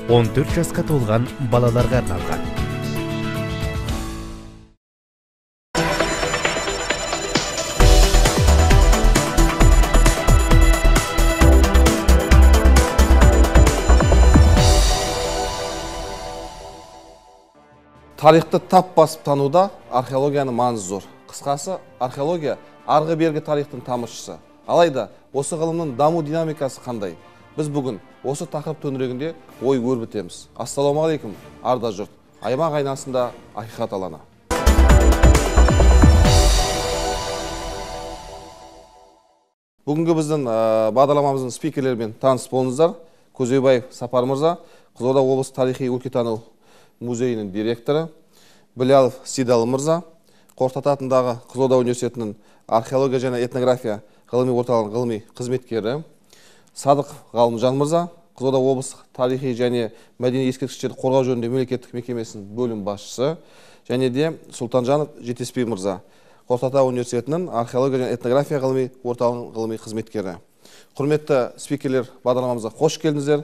14 жасқа толған балаларға арналған. Тарихты тап басып тануда археологияның маңызы зор. Қысқасы, археология арғы бергі тарихтың тамыршысы. Алайда, осы ғылымның даму динамикасы қандай? Біз бүгін осы тақырып төңірегінде ой өрбітеміз. Ассалаумағалейкум, арда жұрт. Аймақ айнасында ақиқат алаңы. Бүгінгі біздің бағдарламамыздың спикерлерімен таныс болыңыздар. Көзебаев Сапар мырза, Қызылорда облысы тарихи өлкетану музейінің директоры, Білялов Сидалы мырза, Қорқыт ата атындағы Қызылорда университетінің археология және этнография ғылыми орталығының ғылыми қызметкері, Садық Ғалымжан мырза, Қызылорда облысы тарихи және мәдени ескерткіштерді қорғау жөнінде мемлекеттік мекемесінің бөлім басшысы, және де Сұлтанжанов Жетеспей мырза, Қорқыт ата университетінің археология және этнография ғылыми орталығының ғылыми қызметкері. Құрметті спикерлер, бағдарламамызға қош келдіңіздер.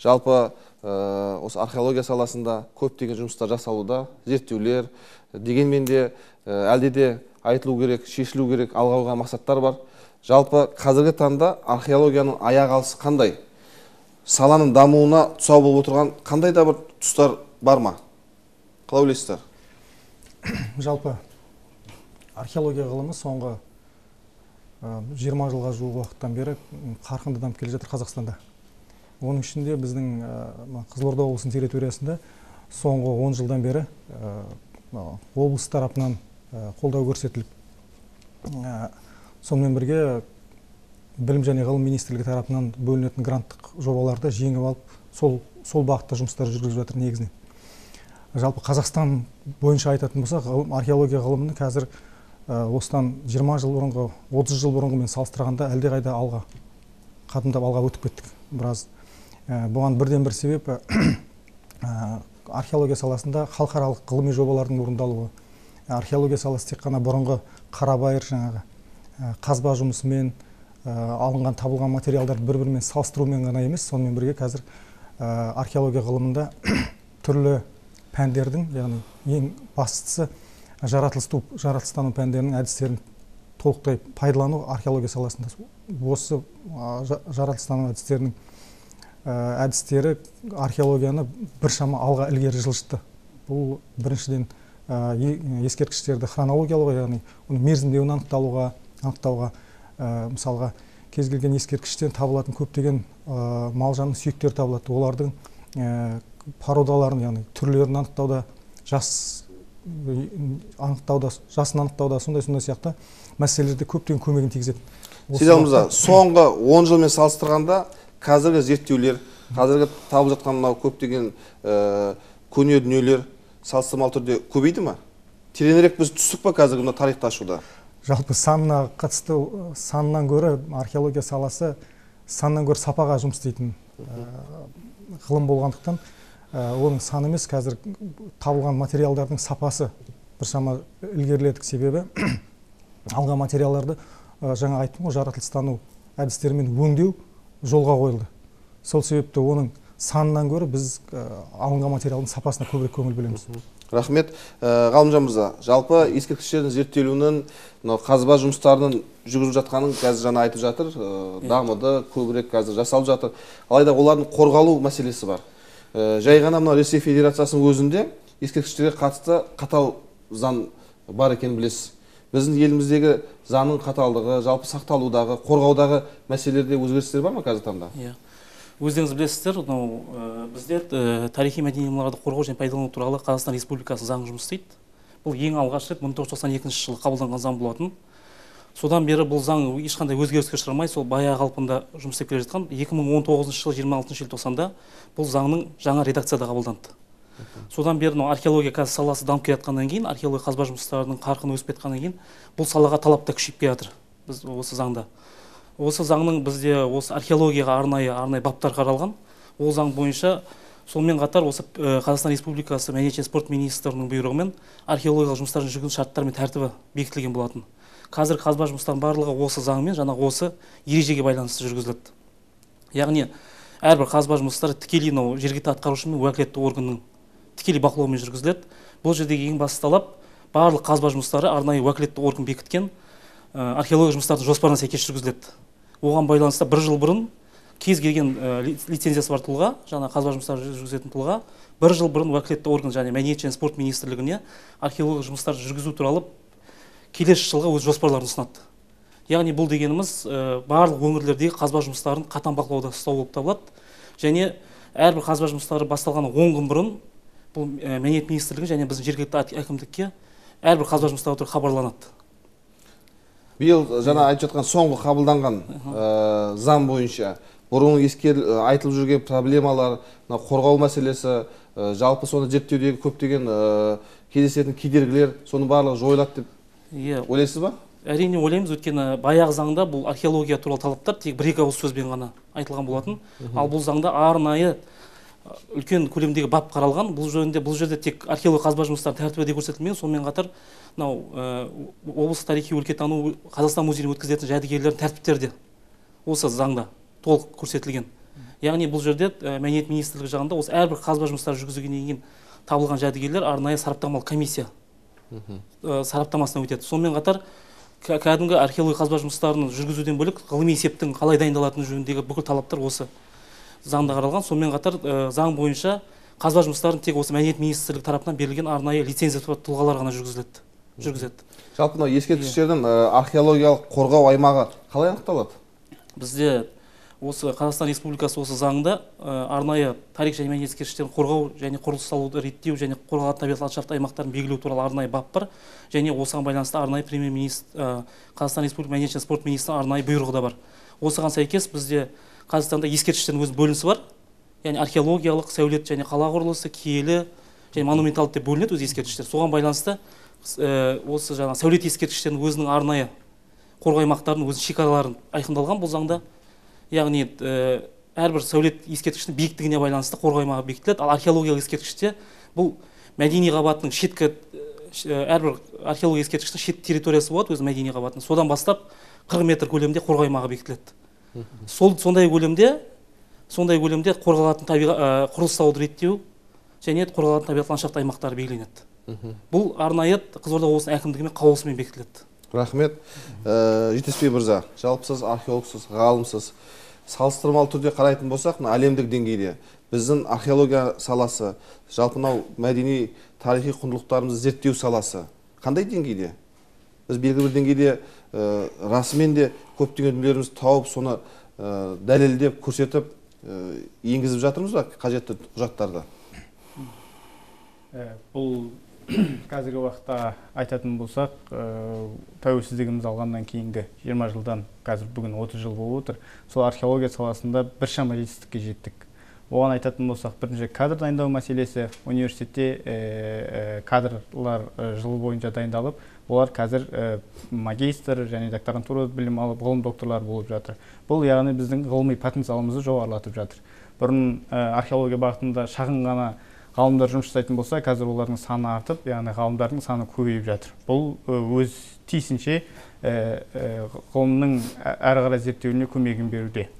Жалпы осы археология саласында көптеген жұмыстар жасалуда, зерттеулер, дегенмен де әлде де айтылу керек, шешілу керек, алға қойған мақсаттар бар. Жалпы қазіргі таңда археологияның аяқ алысы қандай? Саланың дамуына тұсау болып отырған қандай да бір тұстар бар ма? Қалай ойлайсыздар? Жалпы археология ғылымы соңғы 20 жылға жуық уақыттан бері қарқынды дамып келе жатыр Қазақстанда. Оның ішінде біздің Қызылорда облысының территориясында соңғы 10 жылдан бері облыс тарапынан қолдау көрсетіліп, сонымен бірге білім және ғылым министрлігі тарапынан бөлінетін гранттық жобаларды жеңіп алып, сол бағытта жұмыстар жүргізіп жатыр негізінен. Жалпы Қазақстан бойынша айтатын болсақ, археология ғылымының қазір осыдан 20 жыл бұрынғы, 30 жыл бұрынғымен салыстырғанда әлдеқайда қадымдап алға өтіп кеттік біраз. Бұған бірден бір себеп археология саласында халықаралық ғылыми жобалардың орындалуы. Археология саласы тек қана бұрынғы қарабайыр жаңағы қазба жұмысымен алынған табылған материалдарды бір-бірімен салыстырумен ғана емес, сонымен бірге қазір археология ғылымында түрлі пәндердің, яғни ең бастысы жаратылыстану пәндерінің әдістерін толықтай пайдалану археология саласында. Осы жаратылыстану әдістері археологияны біршама алға ілгері жылжытты. Бұл біріншіден ескерткіштерді хронологиялауға, яғни мерзімдеуін анықтауға, мысалға кез келген ескерткіштен табылатын көптеген мал-жанның сүйектері табылады. Олардың породаларын, яғни түрлерін анықтауда, жасын анықтауда, сондай сияқты мәселелерде көптеген көмегін тигізеді. Сидалы мырза, соңғы 10 жылмен салыстырғанда қазіргі зерттеулер, қазіргі табылып жатқан мынау көптеген көне дүниелер салыстырмалы түрде көбейді ме? Тереңірек біз түстік па қазіргі мына тарихты ашуда? Жалпы санына қатысты, санынан гөрі археология саласы санынан гөрі сапаға жұмыс істейтін ғылым болғандықтан, оның саны емес, қазір табылған материалдардың сапасы біршама ілгеріледік. Себебі алған материалдарды жаңа айттым ғой, жаратылыстану әдістерімен өңдеу жолға қойылды. Сол себепті оның санынан гөрі біз алынған материалдың сапасына көбірек көңіл бөлеміз. Рахмет. Ғалымжан мырза, жалпы ескерткіштердің зерттелуінің, қазба жұмыстарының жүргізіп жатқанын қазір жаңа айтып жатыр, дамыды, көбірек қазір жасалып жатыр. Алайда олардың қорғалу мәселесі бар. Жай ғана мына Ресей Федерациясының өзінде ескерткіштерге қатысты қатал заң бар екенін білесіз. Біздің еліміздегі заңның қаталдығы, жалпы сақталудағы, қорғаудағы мәселелерде өзгерістер бар ма қазір таңда? Өздеріңіз білесіздер, біздер тарихи мәдени мұраларды қорғау және пайдалану туралы Қазақстан Республикасының заңы жұмыс істейді. Бұл ең алғаш рет 1992 жылы қабылданған заң болатын. Содан бері бұл заң ешқандай өзгеріске ұшырамай, сол баяғы қалпында жұмыс істеп келе жатқан. 2019 жылы 26 желтоқсанда бұл заңның жаңа редакцияда қабылданды. Содан бері археология қазір саласы дамып келе жатқаннан кейін, археология қазба жұмыстарының қарқыны өсіп кеткеннен кейін, бұл салаға талап та күшейіп келе жатыр. Біз осы заңда. Осы заңның бізде осы археологияға арнайы баптар қаралған. Ол заң бойынша сонымен қатар осы Қазақстан Республикасы мәдениет және спорт министрінің бұйрығымен археологиялық жұмыстардың жүргізу шарттары мен тәртібі бекітілген болатын. Қазір қазба жұмыстарының барлығы осы заңмен, жаңағы осы ережеге байланысты жүргізіледі. Яғни әрбір қазба жұмыстары тікелей жергілікті атқарушы мен уәкілетті органның тікелей бақылауымен жүргізіледі. Бұл жердегі ең басты талап барлық қазба жұмыстары арнайы уәкілетті орган бекіткен археология жұмыстардың жоспарына сәйкес жүргізіледі. Оған байланысты бір жыл бұрын кез келген лицензиясы бар тұлға, жаңа қазба жұмыстары жүргізетін тұлға, бір жыл бұрын уәкілетті орган және мәдениет және спорт министрлігіне археология жұмыстарды жүргізу туралы келесі жылға өз жоспарларын ұсынады. Яғни бұл дегеніміз барлық өңірлердегі қазба жұмыстарын қатаң бақылауда ұстау болып табылады. Және әрбір қазба жұмыстары басталған 10 күн бұрын бұл мәдениет министрлігі және біздің жергілікті әкімдікке әрбір қазба жұмыстары туралы хабарланады. Биыл жаңа айтып жатқан соңғы қабылданған заң бойынша бұрын айтылып жүрген проблемалар, қорғау мәселесі, жалпы соны зерттеудегі көптеген кездесетін кедергілер, соның барлығы жойылады деп ойлайсыз ба? Әрине ойлаймыз, өйткені баяғы заңда бұл археология туралы талаптар тек бір-екі ауыз сөзбен ғана айтылған болатын. Ал бұл заңда арнайы үлкен көлемдегі бап қаралған. Бұл жерде тек археология қазба жұмыстары тәртібі де көрсетілмеген, сонымен қатар облыстық тарихи өлкетану Қазақстан музейіне өткізілетін жәдігерлердің тәртіптері де осы заңда толық көрсетілген. Яғни бұл жерде мәдениет министрлігі жағында осы әрбір қазба жұмыстары жүргізілгеннен кейін табылған жәдігерлер арнайы сараптамалық комиссия сараптамасынан өтеді. Сонымен қатар кәдімгі археология қазба жұмыстарын жүргізуден бөлек ғылыми есептің қалай дайындалатыны жөніндегі бүкіл талаптар осы заңда қаралған. Сонымен қатар заң бойынша қазба жұмыстарын тек осы мәдениет министрлігі тарапынан берілген арнайы лицензия тұлғалар ғана жүргізеді. Жалпы ескерткіштердің археологиялық қорғау аймағы қалай анықталады? Бізде осы Қазақстан Республикасы осы заңда арнайы тарих және мәдениет ескерткіштерін қорғау және құрылыс салуды реттеу және қорғалатын табиғат ландшафт аймақтарын белгілеу туралы арнайы бап бар. Және осыған байланысты арнайы премьер-министр Қазақстан Республикасы мәдениет және спорт министрінің арнайы бұйрығы да бар. Осыған сәйкес бізде Қазақстанда ескерткіштердің өз бөлінісі бар. Яғни археологиялық, сәулет және қала құрылысы, киелі және монументалды деп бөлінеді өз ескерткіштер. Соған байланысты осы жаңа сәулет ескерткіштерінің өзінің арнайы қорғау аймақтарының өз шекараларын айқындалған бұл заңда. Яғни әрбір сәулет ескерткіштің биіктігіне байланысты қорғау аймағы бекітіледі. Ал археологиялық ескерткіште бұл мәдени қабатының шеткі әрбір археология ескерткіштің шет территориясы болады өз мәдени қабатының. Содан бастап 40 метр көлемде қорғау аймағы бекітіледі. Сондай көлемде қорғалатын құрылыс салуды реттеу және қорғалатын табиғат ландшафт аймақтары белгіленеді. Бұл арнайы Қызылорда облысының әкімдігімен қаулысымен бекітіледі. Рахмет. Жетеспей мырза, жалпы сіз археологсыз, ғалымсыз. Салыстырмалы түрде қарайтын болсақ, әлемдік деңгейде біздің археология саласы, жалпы мәдени тарихи құндылықтарымызды зерттеу саласы қандай деңгейде? Біз белгілі бір деңгейде расымен де көптеген дүниелерімізді тауып, соны дәлелдеп, көрсетіп, енгізіп жатырмыз ба қажетті құжаттарды? Бұл қазіргі уақытта айтатын болсақ, тәуелсіздігіміз алғаннан кейінгі 20 жылдан қазір бүгін 30 жыл болып отыр. Сол археология саласында біршама жетістікке жеттік. Оған айтатын болсақ, бірінші кадр дайындау мәселесі. Университетте кадрлар жыл бойынша дайындалып, олар қазір магистр және докторантура білім алып, ғылым докторлар болып жатыр. Бұл яғни біздің ғылыми потенциалымызды жоғарылатып жатыр. Бұрын археология бағытында шағын ғана ғалымдар жұмыс жасайтын болса, қазір олардың саны артып, яғни ғалымдардың саны көбейіп жатыр. Бұл өз тиісінше ғылымның әрі қарай зерттеуіне көмегін беруде.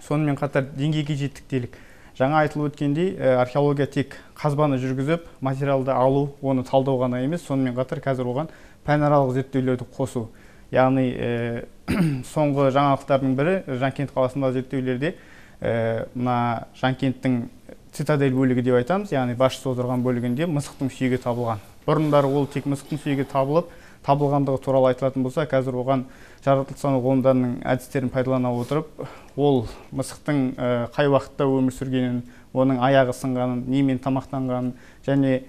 Сонымен қатар деңгейге жеттік делік. Жаңа айтылып өткендей, археология тек қазбаны жүргізіп, материалды алу, оны талдау ғана емес, сонымен қатар қазір оған пәнаралық зерттеулерді қосу. Яғни соңғы жаңалықтардың бірі Жанкент қаласындағы зерттеулерде мына Жанкенттің цитадель бөлігі деп айтамыз, яғни басшысы отырған бөлігінде мысықтың сүйегі табылған. Бұрындары ол тек мысықтың сүйегі табылғандығы туралы айтылатын болса, қазір оған жаратылыстану ғылымдарының әдістерін пайдалана отырып, ол мысықтың қай уақытта өмір сүргенін, оның аяғы сынғанын, немен тамақтанғанын және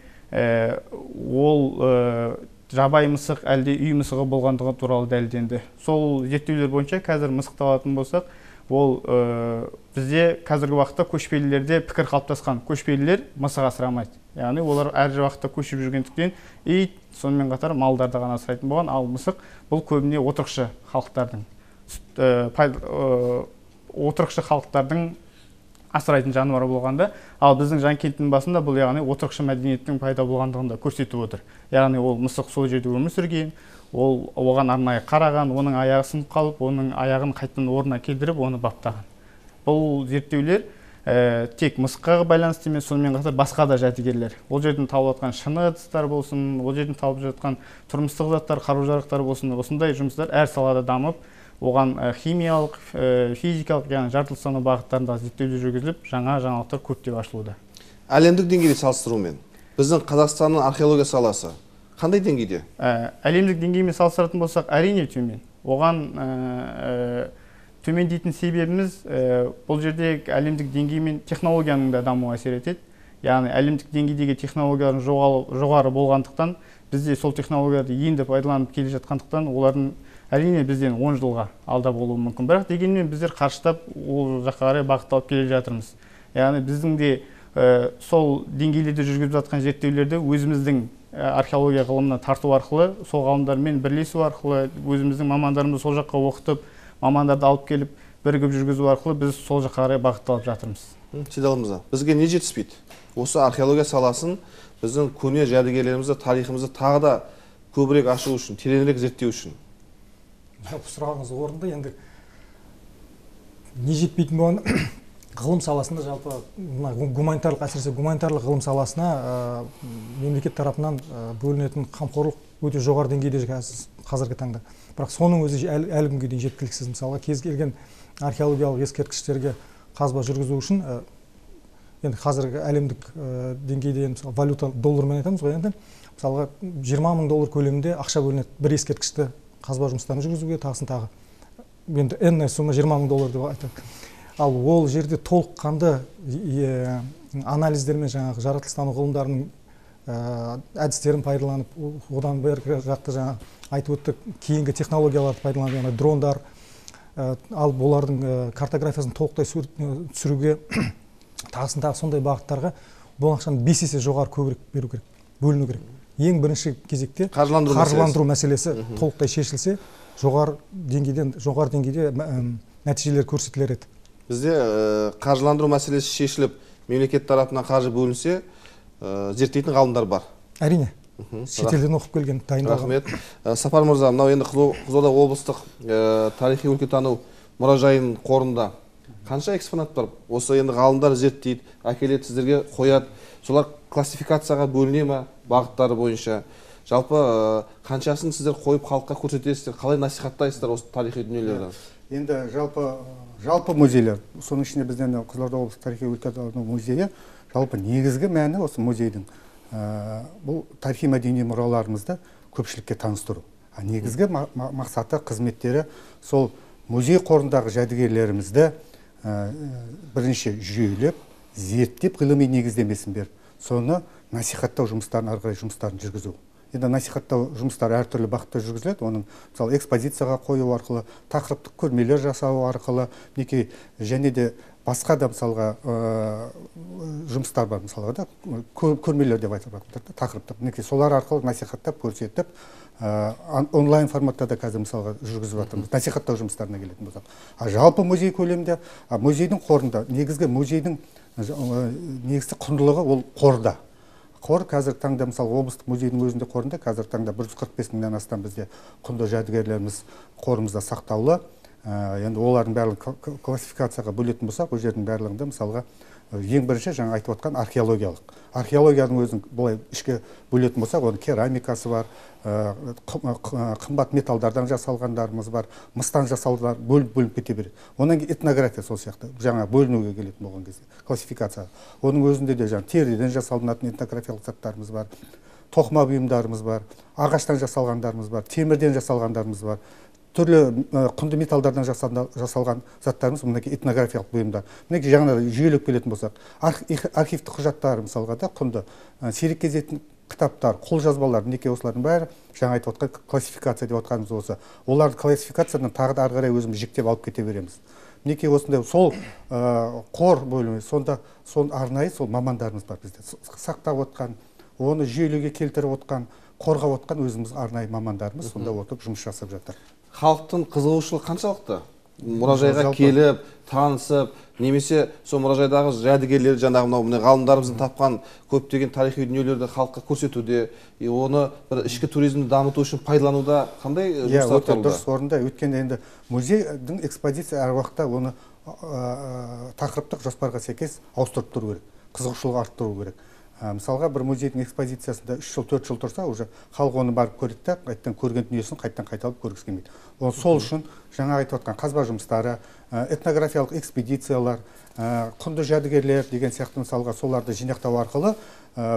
ол жабайы мысық әлде үй мысығы болғандығы туралы дәлелденді. Сол зерттеулер бойынша қазір мысықты алатын болсақ, ол бізде қазіргі уақытта көшпелілерде пікір қалыптасқан. Көшпелілер мысық асырамайды. Яғни олар әр уақытта көшіп жүргендіктен ит, сонымен қатар малдарды ғана асырайтын болған, ал мысық бұл көбіне отырықшы халықтардың асырайтын жануары болғанда, ал біздің Жанкенттің басында бұл яғни отырықшы мәдениеттің пайда болғандығын да көрсетіп отыр. Яғни ол мысық сол жерде өмір сүрген, ол оған арнайы қараған, оның аяғы сынып қалып, оның аяғын қайтадан орнына келтіріп, оны баптаған. бұл зерттеулер тек мысыққа байланысты емес, сонымен қатар басқа да жәдігерлер. Ол жерден табылып жатқан шыны ыдыстар болсын, ол жерден табылып жатқан тұрмыстық заттар, қару-жарақтар болсын, осындай жұмыстар әр салада дамып, оған химиялық, физикалық, яғни жартылай саны бағыттарында зерттеулер жүргізіліп, жаңа жаңалықтар көптеп ашылуда. Әлемдік деңгейде салыстырумен біздің Қазақстанның археология саласы қандай деңгейде? Әлемдік деңгеймен салыстыратын болсақ, әрине төмен. Оған төмен дейтін себебіміз бұл жерде әлемдік деңгеймен технологияның да дамуы әсер етеді. Яғни әлемдік деңгейдегі технологиялардың жоғары болғандықтан, бізде сол технологияларды енді пайдаланып келе жатқандықтан, олардың әрине бізден 10 жылға алда болуы мүмкін. Бірақ дегенмен біздер қарыштап ол жаққа қарай бағытталып келе жатырмыз. Яғни біздің де сол деңгейлерде жүргізіп жатқан зерттеулерді өзіміздің археология ғылымына тарту арқылы, сол ғалымдармен бірлесу арқылы, өзіміздің мамандарымызды сол жаққа оқытып, мамандарды алып келіп, бірігіп жүргізу арқылы біз сол жаққа қарай бағытталып жатырмыз. Сейдал мырза, бізге не жетіспейді? Осы археология саласын біздің көне жәдігерлерімізді, тарихымызды тағы да көбірек ашу үшін, тереңірек зерттеу үшін. Сұрағыңыз орынды. Енді не жетпейтін болғанда ғылым саласында жалпы гуманитарлық, әсіресе гуманитарлық ғылым саласына мемлекет тарапынан бөлінетін қамқорлық өте жоғары деңгейде қазіргі таңда. Бірақ соның өзі әлі күнге дейін жеткіліксіз. Мысалға, кез келген археологиялық ескерткіштерге қазба жүргізу үшін енді қазіргі әлемдік деңгейде валюта доллармен айтамыз ғой, енді мысалға $20,000 көлемінде ақша бөлінеді бір ескерткішті қазба жұмыстарын жүргізуге, тағысын тағы. Енді энная сумма $20,000 деп айтады. Ал ол жерде толыққанды анализдермен жаңағы жаратылыстану ғылымдарының әдістерін пайдаланып, одан бері жақты жаңағы айтып өттік, кейінгі технологияларды пайдаланып, яғни дрондар, ал олардың картографиясын толықтай түсіруге, тағысын тағы сондай бағыттарға бұл ақшаны 5 есе жоғары көбірек беру керек, бөліну керек. Ең бірінші кезекте қаржыландыру мәселесі толықтай шешілсе, жоғары деңгейде нәтижелер көрсетілер еді. Бізде қаржыландыру мәселесі шешіліп, мемлекет тарапынан қаржы бөлінсе, зерттейтін ғалымдар бар. Әрине. Шетелден оқып келген, дайындалған. Рахмет. Сапар мырза, мынау енді Қызылорда облыстық тарихи өлкетану мұражайының қорында қанша экспонат бар? Осы енді ғалымдар зерттейді, әкеледі сіздерге қояды. Солар классификацияға бөліне ме бағыттары бойынша? Жалпы қаншасын сіздер қойып халыққа көрсетесіздер, қалай насихаттайсыздар осы тарихи дүниелерді? Енді жалпы музейлер, соның ішінде бізден Қызылорда облыстық тарихи өлкетану музейі, жалпы негізгі мәні осы музейдің бұл тарихи мәдени мұраларымызды көпшілікке таныстыру. Негізгі мақсаты, қызметтері сол музей қорындағы жәдігерлерімізді бірінші жүйелеп, зерттеп, ғылыми негіздемесін беріп, соны насихаттау жұмыстарын, арғырай жұмыстарын жүргізу. Енді насихаттау жұмыстары әртүрлі бағытта жүргізіледі. Оның мысалы экспозицияға қою арқылы, тақырыптық көрмелер жасау арқылы, және де басқа да мысалға жұмыстар бар, мысалға да көрмелер деп айтылады, тақырыптық. Солар арқылы насихаттап, көрсетіп, онлайн форматта да қазір мысалға жүргізіп жатырмыз, насихаттау жұмыстарына келетін болсақ. Жалпы музей көлемінде, музейдің қорында, негізгі музейдің негізгі құндылығы ол қорда. Қор қазіргі таңда, мысалы, облыстық музейдің өзінде қорында қазіргі таңда 145 мыңнан астам бізде құнды жәдігерлеріміз қорымызда сақтаулы. Енді олардың барлығын классификацияға бөлетін болсақ, ол жердің барлығында мысалға ең бірінші жаңа айтып отқан археологиялық. Археологияның өзін былай ішке бөлетін болсақ, оның керамикасы бар, қымбат металдардан жасалғандарымыз бар, мыстан жасалғандар бөлініп кете береді. Онан кейін этнография сол сияқты, жаңа бөлінуге келетін болған кезде, классификация. Оның өзінде де жаңа теріден жасалынатын этнографиялық заттарымыз бар, тоқыма бұйымдарымыз бар, ағаштан жасалғандарымыз бар, темірден жасалғандарымыз бар. Түрлі құнды металдардан жасалған заттарымыз, мінекей этнографиялық бұйымдар. Мінекей жаңа жүйелеп келетін болсақ, архивтік құжаттар мысалға да құнды, сирек кездесетін кітаптар, қолжазбалар, мінекей осылардың бәрі жаңа айтып отқан классификация деп отқанымыз осы. Олардың классификациядан тағы да ары қарай өзіміз жіктеп алып кете береміз. Мінекей осындай сол қор бөлімі, сонда арнайы сол мамандарымыз бар бізде. Сақтап отқан, оны жүйелеуге келтіріп отқан, қорғап отқан өзіміз арнайы мамандарымыз сонда отырып жұмыс жасап жатыр. Халықтың қызығушылығы қаншалықты? Мұражайға келіп, танысып, немесе сол мұражайдағы жәдігерлерді, жаңағы мынау ғалымдарымыздың тапқан көптеген тарихи дүниелерді халыққа көрсетуде, оны бір ішкі туризмді дамыту үшін пайдалануда қандай жұмыстар атқарылуда? Дұрыс орында. Өйткені енді музейдің экспозиция әр уақытта оны тақырыптық жоспарға сәйкес ауыстырып тұру керек, қызығушылық арттыру керек. Мысалға бір музейдің экспозициясында 3 жыл 4 жыл тұрса, уже халық оны барып көреді де, қайттан көрген дүниесін қайттан қайталап көргісі келмейді. Сол үшін жаңа айтып отқан қазба жұмыстары, этнографиялық экспедициялар, құнды жәдігерлер деген сияқты мысалға соларды жинақтау арқылы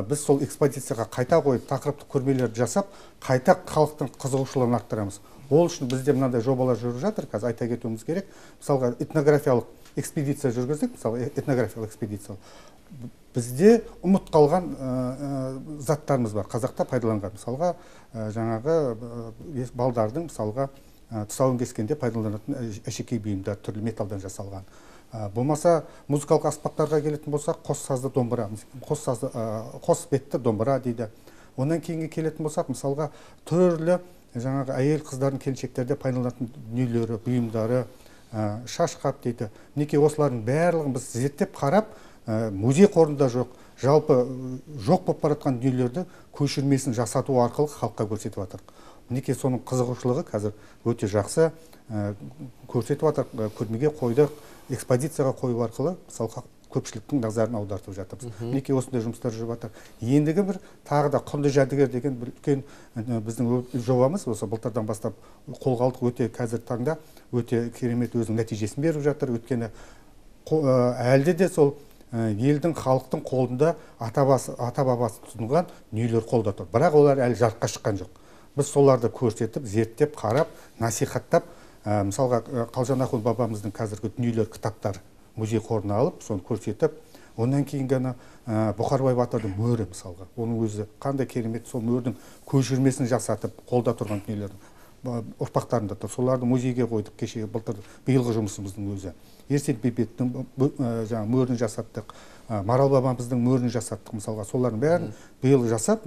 біз сол экспозицияға қайта қойып тақырыптық көрмелерді жасап, қайта халықтың қызығушылығын арттырамыз. Ол үшін бізде мынандай жобалар жүріп жатыр, қазір айта кетуіміз керек. Мысалға этнографиялық экспедиция жүргіздік, мысалы этнографиялық экспедиция. Бізде ұмыт қалған заттарымыз бар, қазақта пайдаланған. Мысалға жаңағы балдардың мысалға тұсауын кескенде пайдаланатын әшекей бұйымдар, түрлі металдан жасалған. Болмаса музыкалық аспаптарға келетін болсақ, қос сазды домбыра, қос бетті домбыра дейді. Онан кейінге келетін болсақ, мысалға түрлі жаңағы әйел қыздардың келіншектерде пайдаланатын дүниелері, бұйымдары, шашқап дейді. Мінекей осылардың барлығын біз зерттеп қарап, музей қорында жоқ, жалпы жоқ болып баратқан дүниелерді көшірмесін жасату арқылы халыққа көрсетіп жатыр. Мінекей соның қызығушылығы қазір өте жақсы көрсетіп жатыр. Көрмеге қойдық, экспозицияға қою арқылы мысалы көпшіліктің назарын аудартып жатырмыз. Мінекей осындай жұмыстар жүріп жатыр. Ендігі бір тағы да құнды жәдігер деген бір үлкен біздің жобамыз осы былтырдан бастап қолға алдық. Өте қазір таңда өте керемет өзінің нәтижесін беріп жатыр. Өйткені әлде де сол елдің халықтың қолында ата бабасы тұтынған дүниелер қолда тұр. Бірақ олар әлі жарыққа шыққан жоқ. Біз соларды көрсетіп, зерттеп, қарап, насихаттап, мысалға Қалжан Ахун бабамыздың қазіргі дүниелер кітаптары музей қорына алып, соны көрсетіп, онан кейін ғана Бұқарбай батырдың мөрі мысалға, оның өзі қандай керемет, сол мөрдің көшірмесін жасатып, қолда тұрған дүниелердің ұрпақтарында тұр. Соларды музейге қойдық кешегі былтыр биылғы жұмысымыздың өзі. Ерсен Бейбеттің мөрін жасаттық, Марал бабамыздың мөрін жасаттық мысалға. Солардың бәрін биыл жасап,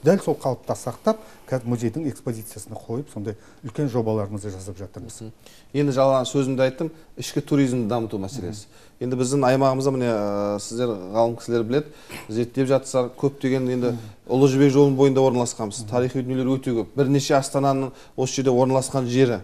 дәл сол қалыпта сақтап, музейдің экспозициясына қойып, сондай үлкен жобаларымызды жасап жатырмыз. Енді жалған сөзімді айттым, ішкі туризмді дамыту мәселесі. Енді біздің аймағымызда міне сіздер ғалым кісілер біледі, зерттеп жатсыздар, көптеген енді Ұлы Жібек жолының бойында орналасқанбыз. Тарихи дүниелер өте көп. Бірнеше астананың осы жерде орналасқан жері.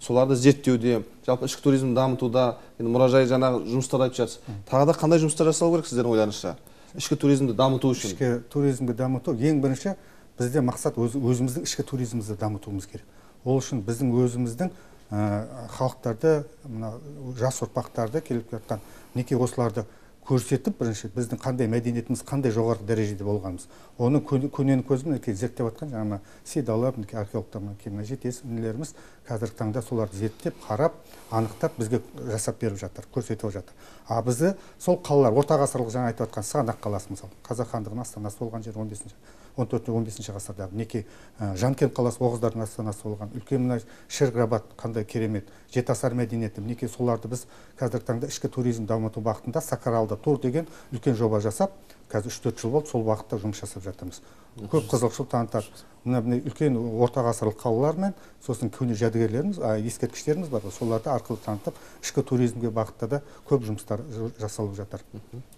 Соларды зерттеуде, жалпы ішкі туризмді дамытуда, енді мұражай жаңағы жұмыстар айтып жатсыз. Тағы да қандай жұмыстар жасалу керек сіздердің ойларыңызша? Ішкі туризмді дамыту үшін. Ішкі туризмді дамыту ең бірінші бізде мақсат өзіміздің ішкі туризмімізді дамытуымыз керек. Ол үшін біздің өзіміздің халықтарды, жас ұрпақтарды келіп жатқан неке осыларды көрсетіп, бірінші біздің қандай мәдениетіміз, қандай жоғары дәрежеде болғанымыз. Оны көнені көзімен зерттеп жатқан жаңа Сейдалар, археологтар, жетесінлеріміз қазіргі таңда соларды зерттеп, қарап, анықтап бізге жасап беріп жатыр, көрсетіп жатыр. Бізді сол қалалар, орта ғасырлық жаңа айтып жатқан Сығанақ қаласы мысалы, Қазақ хандығының астанасы болған жер 14-15 ғасырдағы. Неке Жанкент қаласы оғыздардың астанасы болған. Үлкен Шерғабад қандай керемет, жетасар мәдениеті. Неке соларды біз қазіргі таңда ішкі туризм дамыту бағытында Сақаралда тур деген үлкен жоба жасап, қазір 3-4 жыл болды сол бағытта жұмыс жасап жатырмыз. Көп қызығушылық танытады. Мына үлкен орта ғасырлық қалалар мен сосын көне жәдігерлеріміз, ескерткіштеріміз бар. Соларды арқылы танытып, ішкі туризмге бағытта да көп жұмыстар жасалып жатыр.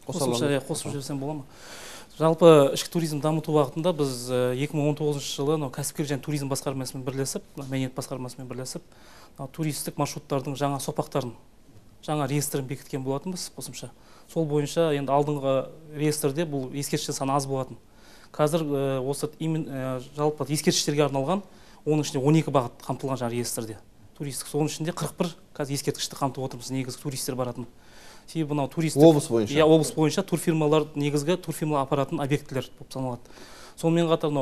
Қосып жіберсем бола ма? Жалпы ішкі туризм дамыту бағытында біз 2019 жылы кәсіпкерлік және туризм басқармасымен бірлесіп, мәдениет басқармасымен бірлесіп, туристік маршруттардың жаңа соқпақтарын, жаңа реестрін бекіткен болатынбыз қосымша. Сол бойынша енді алдыңғы реестрде бұл ескерткіштер саны аз болатын. Қазір осы жалпы ескерткіштерге арналған, оның ішінде 12 бағыт қамтылған жаңа реестрде. Туристік, соның ішінде 41 қазір ескерткішті қамтып отырмыз, негізгі туристер баратын. Себебі мынау туристік облыс бойынша. Облыс бойынша турфирмалар негізгі турфирмалар апаратын объектілер болып саналады. Сонымен қатар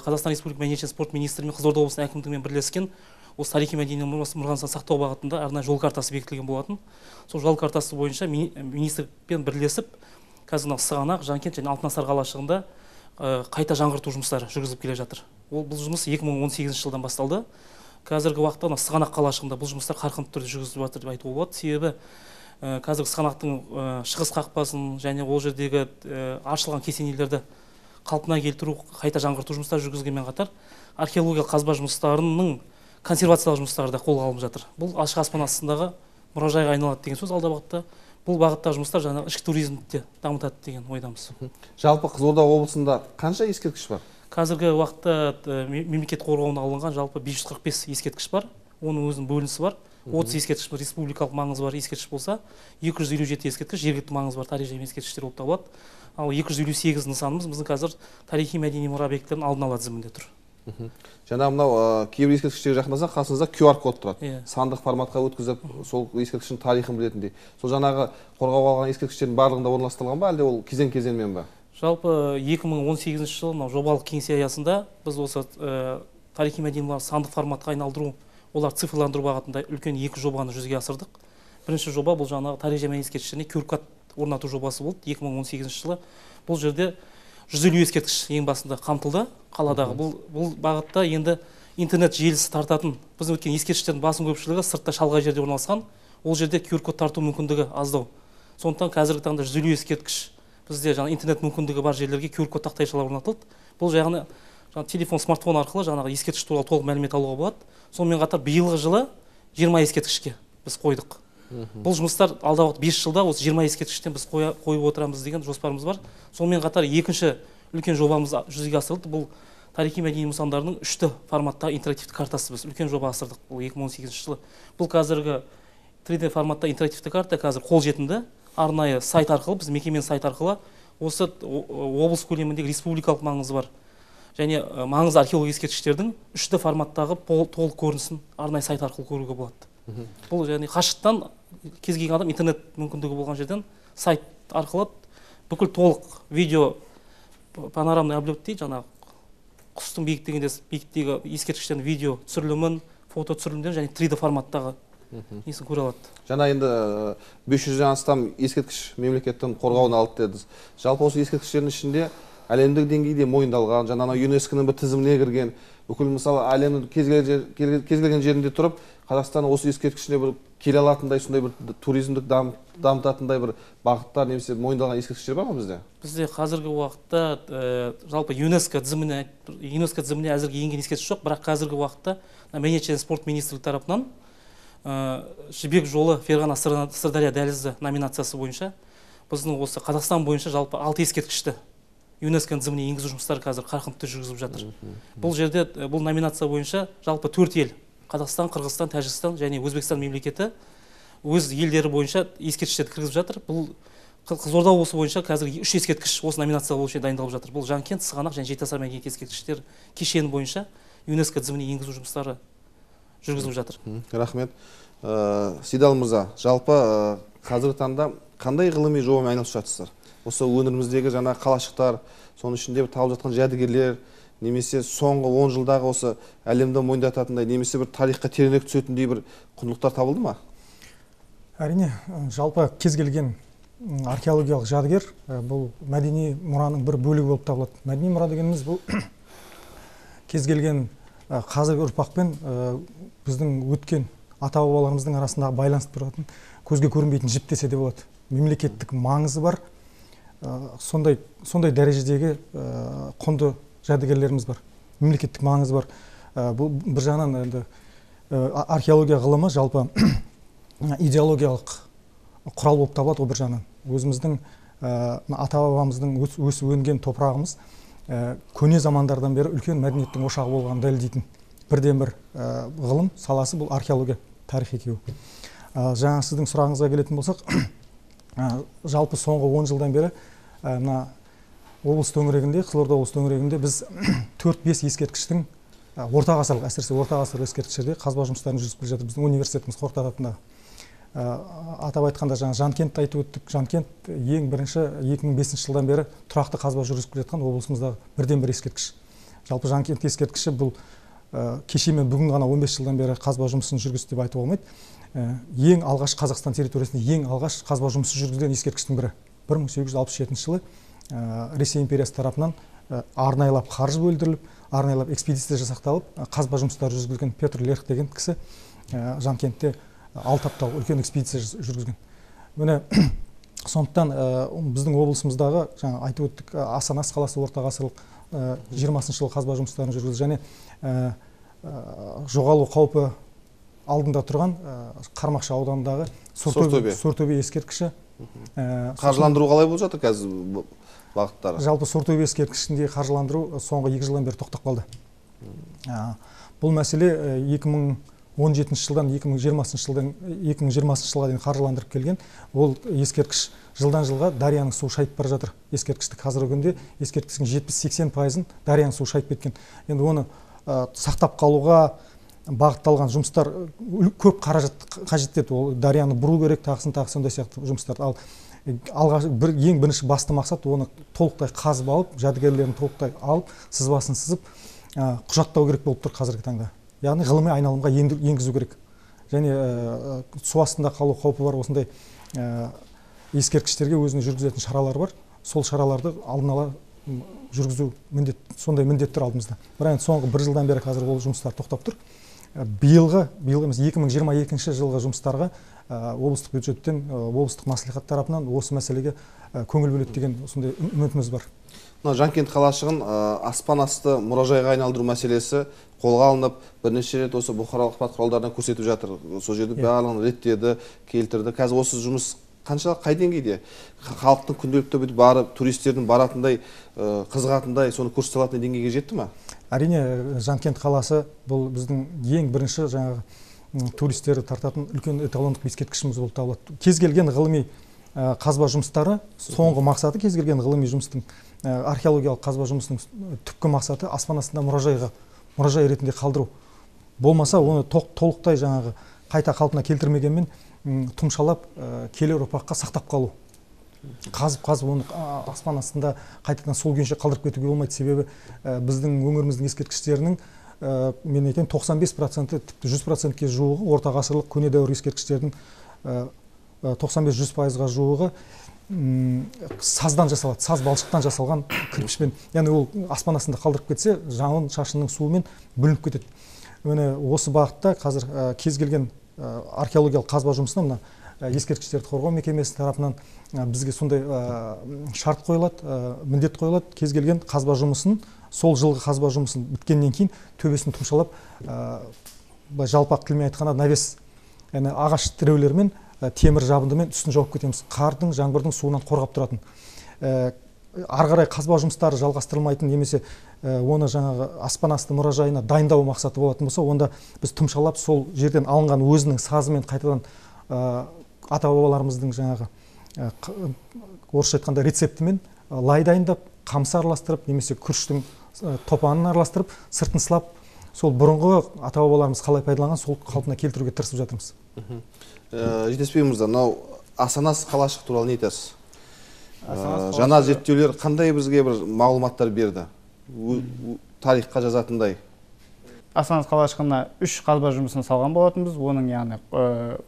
Қазақстан Республика мәдениет және спорт министрі мен Қызылорда облысының әкімдігімен бірлескен осы тарихи мәдени мұрасын сақтау бағытында арнайы жол картасы бекітілген болатын. Сол жол картасы бойынша министрлікпен бірлесіп, қазір Сығанақ, Жанкент және Алтынасар қалашығында қайта жаңғырту жұмыстары жүргізіліп келе жатыр. Бұл жұмыс 2018 жылдан басталды. Қазіргі уақытта Сығанақ қалашығында бұл жұмыстар қарқынды түрде жүргізіліп жатыр деп айтуға болады. Себебі қазіргі Сығанақтың шығыс қақпасын және ол жердегі ашылған кесенелерді қалпына келтіру, қайта жаңғырту жұмыстары жүргізілгенмен қатар археологиялық қазба жұмыстарының консервациялық жұмыстары да қолға алынып жатыр. Бұл ашық аспан астындағы мұражайға айналады деген сөз алда бағытта. Бұл бағыттағы жұмыстар жаңағы ішкі туризмді дамытады деген ойдамыз. Жалпы Қызылорда облысында қанша ескерткіш бар? Қазіргі уақытта мемлекет қорғауына алынған жалпы 545 ескерткіш бар. Оның өзінің бөлінісі бар. 30 ескерткіш республикалық маңызы бар ескерткіш болса, 257 ескерткіш жергілікті маңызы бар тарихи ескерткіштер болып табылады. Ал 258 нысанымыз біздің қазір тарихи мәдени мұра объектілерінің алдын ала тізімінде тұр. Жаңа мынау кейбір ескерткіштерге жақындаса қасыңызда QR код тұрады. Сандық форматқа өткізіп, сол ескерткіштің тарихын білетіндей. Сол жаңағы қорғауға алған ескерткіштердің барлығында орналастырылған ба, әлде ол кезең-кезеңмен ба? Жалпы 2018 жылы мынау жобалық кеңсе аясында біз осы тарихи мәдени мұра сандық форматқа айналдыру, олар цифрландыру бағытында үлкен 2 жобаны жүзеге асырдық. Бірінші жоба бұл жаңағы тарих және ескерткіштеріне QR код орнату жобасы болды 2018 жылы. Бұл жерде 150 ескерткіш ең басында қамтылды қаладағы. Бұл бағытта енді интернет желісі тартатын, біз өткен ескерткіштердің басым көпшілігі сыртта шалғай жерде орналасқан, ол жерде QR код тарту мүмкіндігі аздау. Сондықтан қазіргі таңда 150 ескерткіш бізде жаңа интернет мүмкіндігі бар жерлерге QR код тақтайшалар орнатылды. Бұл жағына телефон, смартфон арқылы жаңағы ескерткіш туралы толық мәлімет алуға болады. Сонымен қатар биылғы жылы 20 ескерткішке біз қойдық. Бұл жұмыстар алдағы 5 жылда осы 20 ескерткіштен біз қойып отырамыз деген жоспарымыз бар. Сонымен қатар екінші үлкен жобамыз жүзеге асырылды. Бұл тарихи мәдени нысандарының 3 форматта интерактивті картасы біз үлкен жоба асырдық. Бұл 2018 жылы. Бұл қазіргі 3D форматта интерактивті карта қазір қолжетімді. Арнайы сайт арқылы, біз мекеменің сайт арқылы осы облыс көлеміндегі республикалық маңызы бар және маңызды археологиялық ескерткіштердің 3D форматтағы толық көрінісін арнайы сайт арқылы көруге болады. Бұл яғни қашықтан кез келген адам интернет мүмкіндігі болған жерден сайт арқылы бүкіл толық видео панорамный объект дейді, жаңағы құстың биіктігі ескерткіштердің видео түсірілімін, фото түсірілімдерін және 3D форматтағы несін көре алады. Жаңа енді 500-ден астам ескерткіш мемлекеттің қорғауына алды дедіңіз. Жалпы осы ескерткіштердің ішінде әлемдік деңгейде мойындалған, жаңа ЮНЕСКО-ның бір тізіміне кірген, бүкіл мысалы әлемнің кез келген жерінде тұрып, Қазақстан осы ескерткішіне бір келе алатындай, сондай бір туризмдік дамытатындай бір бағыттар немесе мойындалған ескерткіштер бар ма бізде? Бізде қазіргі уақытта жалпы ЮНЕСКО тізіміне әзірге енген ескерткіш жоқ, бірақ қазіргі уақытта мәдениет және спорт министрлігі тарапынан Жібек жолы Ферғана Сырдария дәлізі номинациясы бойынша біздің осы Қазақстан бойынша жалпы 6 ескерткішті ЮНЕСКО тізіміне енгізу жұмыстары қазір қарқынды жүргізіліп жатыр. Бұл жерде бұл номинация бойынша жалпы 4 ел Қазақстан, Қырғызстан, Тәжікстан және Өзбекстан мемлекеті өз елдері бойынша ескерткіштерді кіргізіп жатыр. Бұл Қызылорда облысы бойынша қазір 3 ескерткіш осы номинация бойынша дайындалып жатыр. Бұл Жанкент, Сығанақ және Жетіасар мәдениет ескерткіштер кешені бойынша ЮНЕСКО тізіміне енгізу жұмыстары жүргізіліп жатыр. Рахмет. Сейдал мырза, жалпы қазіргі таңда қандай ғылыми жобамен айналысып жатырсыздар? Осы өңіріміздегі жаңа қалашықтар, соның ішінде табылып жатқан жәдігерлер, немесе соңғы 10 жылдағы осы әлемді мойындататындай, немесе бір тарихқа тереңірек түсетіндей бір құндылықтар табылды ма? Әрине, жалпы кез келген археологиялық жәдігер бұл мәдени мұраның бір бөлігі болып табылады. Мәдени мұра дегеніміз бұл кез келген қазіргі ұрпақпен біздің өткен ата-бабаларымыздың арасындағы байланысып тұратын көзге көрінбейтін жіп десе де болады. Мемлекеттік маңызы бар, сондай дәрежедегі құнды жәдігерлеріміз бар, мемлекеттік маңызы бар. Бұл бір жағынан енді археология ғылымы жалпы идеологиялық құрал болып табылады. Бір жағынан өзіміздің ата-бабамыздың өсіп өнген топырағымыз көне замандардан бері үлкен мәдениеттің ошағы болғанын дәлелдейтін бірден бір ғылым саласы бұл археология, тарих екеуі. Жаңа сіздің сұрағыңызға келетін болсақ, жалпы соңғы 10 жылдан бері мына облыс төңірегінде, Қызылорда облыс төңірегінде біз 4-5 ескерткіштің орта ғасырлық, әсіресе орта ғасырлық ескерткіштерде қазба жұмыстарын жүргізіп келе жатыр. Біздің университетіміз Қорқыт атындағы. Атап айтқанда жаңа Жанкентті айтып өттік. Жанкент ең бірінші 2005 жылдан бері тұрақты қазба жүргізіп келе жатқан облысымыздағы бірден бір ескерткіш. Жалпы Жанкент ескерткіші бұл кешемен бүгін ғана 15 жылдан бері қазба жұмысын жүргізді деп айтуға болмайды. Ең алғаш Қазақстан территориясында ең алғаш қазба жұмысы жүргізілген ескерткіштің бірі. 1867 жылы Ресей империясы тарапынан арнайлап қаржы бөлдіріліп, арнайлап экспедиция жасақталып, қазба жұмыстары жүргізілген Петр Лерх деген кісі Жанкентте 6 апта үлкен экспедиция жүргізген. Міне сондықтан біздің облысымыздағы жаңа айтып өттік Асанас қаласы орта ғасырлық 20 жылы қазба жұмыстарын жүргізді және жоғалу қаупі алдында тұрған Қармақшы ауданындағы Сортөбе ескерткіші. Қаржыландыру қалай болып жатыр қазір бағыттары? Жалпы Сортөбе ескерткішінде қаржыландыру соңғы 2 жылдан бері тоқтап қалды. Бұл мәселе 17 жылдан 2020 жылға дейін қаржыландырып келген. Ол ескерткіш жылдан жылға Дарияның суы шайып бара жатыр. Ескерткішті қазіргі күнде ескерткіштің 70-80%-ын Дарияның суы шайып кеткен. Енді оны сақтап қалуға бағытталған жұмыстар көп қаражат қажет етеді. Ол Дарияны бұру керек, тағысын сондай сияқты жұмыстар. Ал ең бірінші басты мақсат оны толықтай қазып алып, жәдігерлерін толықтай алып, сызбасын сызып, құжаттау керек болып тұр қазіргі таңда. Яғни ғылыми айналымға енгізу керек. Және су астында қалу қаупі бар осындай ескерткіштерге өзінің жүргізетін шаралар бар. Сол шараларды алдын ала жүргізу сондай міндеттер алдымызда. Бірақ соңғы бір жылдан бері қазір ол жұмыстар тоқтап тұр. Биылғы емес 2022 жылғы жұмыстарға облыстық бюджеттен, облыстық мәслихат тарапынан осы мәселеге көңіл бөледі деген сондай үмітіміз бар. Жанкент қалашығын аспан асты мұражайға айналдыру мәселесі қолға алынып, бірнеше рет осы бұқаралық ақпарат құралдарынан көрсетіп жатыр. Сол жерде барлығын реттеді, келтірді. Қазір осы жұмыс қанша қай деңгейде? Халықтың күнделікті барып, туристердің баратындай, қызығатындай, соны көрсете алатын деңгейге жетті ме? Әрине, Жанкент қаласы бұл біздің ең бірінші жаңағы туристерді тартатын үлкен эталондық ескерткішіміз болып табылады. Кез келген ғылыми қазба жұмыстары, соңғы мақсаты кез келген ғылыми жұмыстың, археологиялық қазба жұмысының түпкі мақсаты аспан астында мұражай ретінде қалдыру. Болмаса оны толықтай жаңағы қайта қалпына келтірмегенмен тұмшалап келер ұрпаққа сақтап қалу. Қазып оны аспан астында қайтадан сол күйінше қалдырып кетуге болмайды. Себебі біздің өңіріміздің ескерткіштерінің мен айтайын 95%, тіпті 100%-ке жуығы орта ғасырлық көне дәуір ескерткіштердің 95-100%-ға жуығы саздан жасалады, саз балшықтан жасалған кірпішпен. Яғни ол аспан астында қалдырып кетсе, жауын шашынның суымен бүлініп кетеді. Міне осы бағытта қазір кез келген археологиялық қазба жұмысына ескерткіштерді қорғау мекемесі тарапынан бізге сондай шарт қойылады, міндет қойылады. Кез келген қазба жұмысын, сол жылғы қазба жұмысын біткеннен кейін төбесін тұмшалап, жалпақ тілмен айтқанда навес, яғни ағаш тіреулермен, темір жабындымен үстін жауып кетеміз. Қардың, жаңбырдың суынан қорғап тұратын. Ары қарай қазба жұмыстары жалғастырылмайтын немесе оны жаңағы аспан асты мұражайына дайындау мақсаты болатын болса, онда біз тұмшалап сол жерден алынған өзінің сазымен қайтадан ата-бабаларымыздың жаңағы орысша айтқанда рецептімен лай дайындап, қамсы араластырып, немесе күріштің топанын араластырып, сыртын сылап, сол бұрынғы ата-бабаларымыз қалай пайдаланған сол қалпына келтіруге тырысып жатырмыз. Жетеспей мырза, мынау Асанас қалашық туралы не айтасыз? Жаңа зерттеулер қандай бізге бір мағлұматтар берді? Тарихқа жазатындай. Асанас қалашығына 3 қазба жұмысын салған болатынбыз. Оның яғни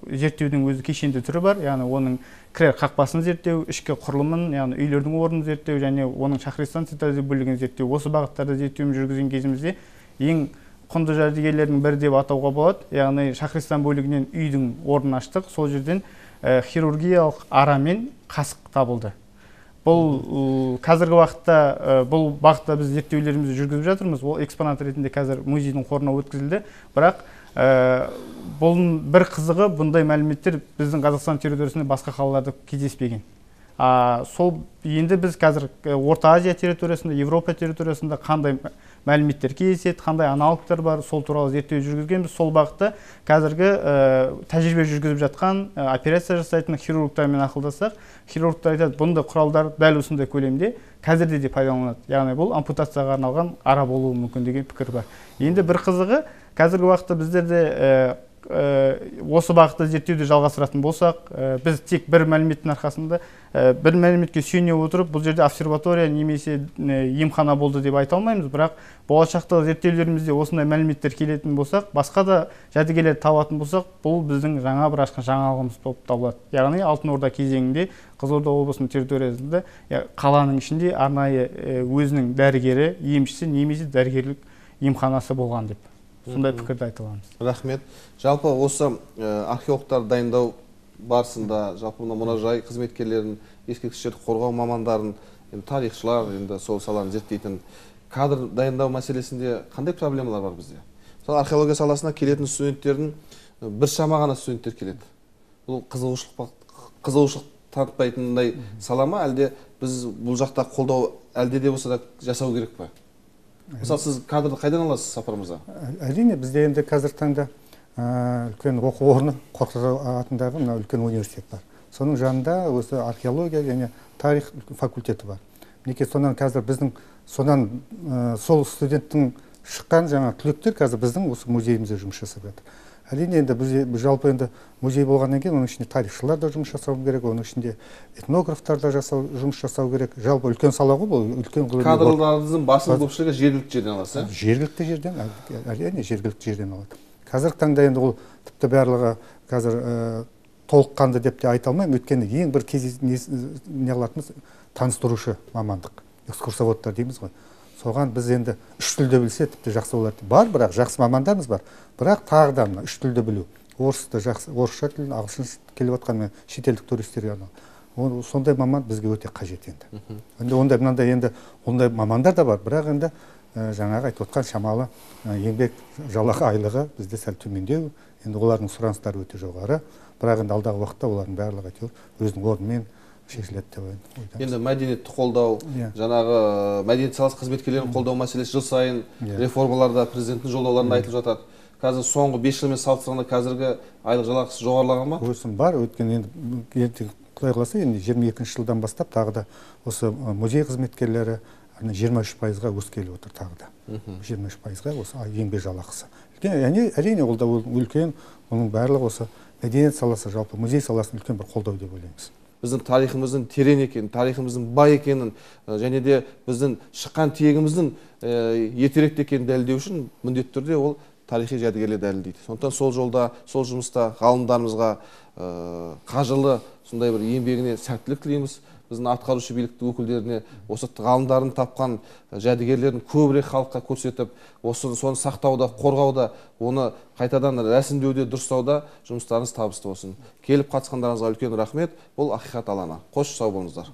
зерттеудің өзі кешенді түрі бар. Яғни оның кірер қақпасын зерттеу, ішкі құрылымын, яғни үйлердің орнын зерттеу және оның Шахристан цитаделі бөлігін зерттеу. Осы бағыттарды зерттеуін жүргізген кезімізде ең құнды жәдігерлердің бірі деп атауға болады. Яғни Шахристан бөлігінен үйдің орнын аштық. Сол жерден хирургиялық ара мен қасық табылды. Бұл қазіргі уақытта бұл бағытта біз зерттеулерімізді жүргізіп жатырмыз. Ол экспонат ретінде қазір музейдің қорына өткізілді. Бірақ бұл бір қызығы, бұндай мәліметтер біздің Қазақстан территориясында басқа қалаларда кездеспеген. Сол енді біз қазір Орта Азия территориясында, Европа территориясында қандай мәліметтер кездеседі, қандай аналогтар бар, сол туралы зерттеу жүргізгенбіз. Сол бағытта қазіргі тәжірибе жүргізіп жатқан операция жасайтын хирургтармен ақылдасақ, хирургтар айтады, бұндай құралдар дәл осындай көлемде қазірде де пайдаланылады. Яғни бұл ампутацияға арналған ара болуы мүмкін деген пікір бар. Енді бір қызығы, қазіргі уақытта біздерде осы бағытта зерттеуді жалғастыратын болсақ, біз тек бір мәліметтің арқасында, бір мәліметке сүйене отырып, бұл жерде обсерватория немесе емхана болды деп айта алмаймыз, бірақ болашақта зерттеулерімізде осындай мәліметтер келетін болсақ, басқа да жәдігерлер табатын болсақ, бұл біздің жаңа бір ашқан жаңалығымыз болып табылады. Яғни Алтын Орда кезеңінде Қызылорда облысының территориясында қаланың ішінде арнайы өзінің дәрігері, емшісі немесе дәрігерлік емханасы болған деп. Сондай пікірді айта аламыз. Рахмет. Жалпы осы археологтар дайындау барысында, жалпы мұражай қызметкерлерін, ескерткіштерді қорғау мамандарын, тарихшылар, енді сол саланы зерттейтін кадр дайындау мәселесінде қандай проблемалар бар бізде? Сол археология саласына келетін студенттердің бір шама ғана студенттер келеді. Бұл қызығушылық танытпайтындай сала ма, әлде біз бұл жақта қолдау әлде де болса да жасау керек па? Мысалы, сіз кадрды қайдан аласыз, Сапар мырза? Әрине, бізде енді қазір таңда үлкен оқу орны, Қорқыт атындағы мына үлкен университет бар. Соның жанында осы археология және тарих факультеті бар. Мінекей сонан қазір біздің сол студенттің шыққан жаңа түлектер қазір біздің осы музейімізде жұмыс жасап жатыр. Әрине енді біз жалпы енді музей болғаннан кейін оның ішінде тарихшылар да жұмыс жасау керек, оның ішінде этнографтар да жұмыс жасау керек. Жалпы үлкен сала ғой бұл, үлкен кадрларыңыздың басым көпшілігі жергілікті жерден аласыз, ә? Жергілікті жерден, әрине жергілікті жерден алады. Қазіргі таңда енді ол тіпті барлығы қазір толыққанды деп те айта алмаймын, өйткені ең бір не қылатынымыз таныстырушы мамандық, экскурсоводтар дейміз ғой. Соған біз енді үш тілді білсе тіпті жақсы болады. Бар, бірақ жақсы мамандарымыз бар. Бірақ тағы да үш тілді білу. Орысты жақсы, орысша тілін, ағылшын келіп жатқан шетелдік туристерге арналған. Сондай маман бізге өте қажет енді. Енді ондай мамандар да бар, бірақ енді жаңағы айтып отқан шамалы еңбек жалақы айлығы бізде сәл төмендеу. Енді олардың сұраныстары өте жоғары. Бірақ енді алдағы уақытта олардың барлығы әйтеуір өзінің орнымен шешіледі деп ойлаймын. Енді мәдениетті қолдау, жаңағы мәдениет саласы қызметкерлерін қолдау мәселесі жыл сайын реформаларда президенттің жолдауларында айтылып жатады. Қазір соңғы 5 жылмен салыстырғанда қазіргі айлық жалақысы жоғарылаған ба? Өсім бар, өйткені енді Құдай қаласа енді 22 жылдан бастап тағы да осы музей қызметкерлері 23%-ға өскелі отыр тағы да. 23%-ға осы еңбек жалақысы. Әрине ол да үлкен, оның барлығы осы мәдениет саласы, жалпы музей саласын үлкен бір қолдау деп ойлаймыз. Біздің тарихымыздың терең екенін, тарихымыздың бай екенін, және де біздің шыққан тегіміздің ертеректе екенін дәлелдеу үшін міндетті түрде ол тарихи жәдігерлер дәлелдейді. Сондықтан сол жолда, сол жұмыста ғалымдарымызға қажырлы сондай бір еңбегіне сәттілік тілейміз. Біздің атқарушы билікті өкілдеріне осы ғалымдардың тапқан жәдігерлерін көбірек халыққа көрсетіп, соны сақтауда, қорғауда, оны қайтадан рәсімдеуде, дұрыстауда жұмыстарыңыз табысты болсын. Келіп қатысқандарыңызға үлкен рахмет. Бұл Ақиқат алаңы. Қош сау болыңыздар.